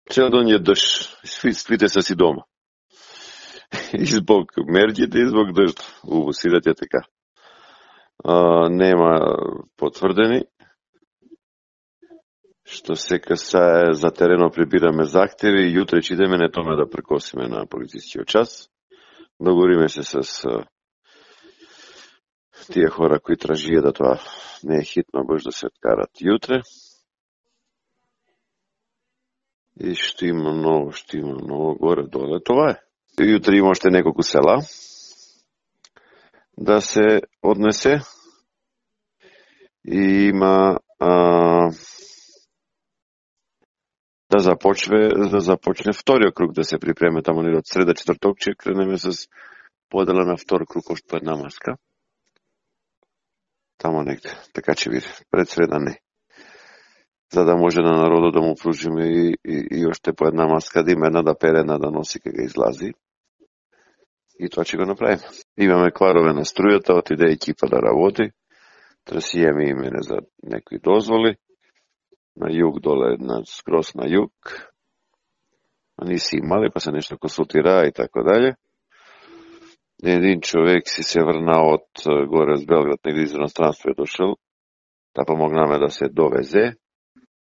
Цел ден јадеш, свите се си дома. Избог мерѓите, избог дожд. Сидат е така. Нема потврдени. Што се касае за терено прибираме захтеви, јутре ќе идеме не томе да прекосиме на полицискиот час. Договориме се с тие хора кои тражија да тоа не е хитно, баш да се откарат јутре. И што има ново горе-доле, това е. Јутре има уште неколку села да се однесе и има да започне вториот круг да се припреме таму од среда четврток, ќе кренеме с подела на втор круг още по една маска. Тамо негде, така ќе биде, пред среда не. За да може на народот да му пружиме и още по една маска, да има една да пере, една да носи кога излази. И тоа ќе го направиме. Имаме кварове на струјата, отиде екипа да работи. Трасијаме имене за некои дозволи. На југ доле, скрос на југ. Они си имали, па се нешто консултираа и така дале. Един човек си се врна од горе од Белград, негде из иностранство е дошел, да помогнаме да се довезе.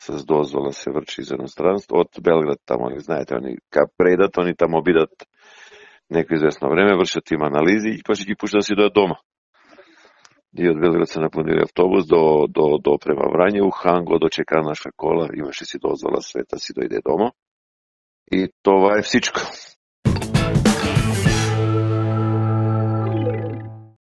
С дозвола се врчи из иностранство. Од Белград тамо, знаете, они кај предат, они тамо бидат некој известно време, вршат им анализи и после ги пушта да си дојат дома. И од Белград се наpunili автобус до према Врање, у Хан го дочека наша кола, имаше си дозвола света, си дојде дома. И това е всичко.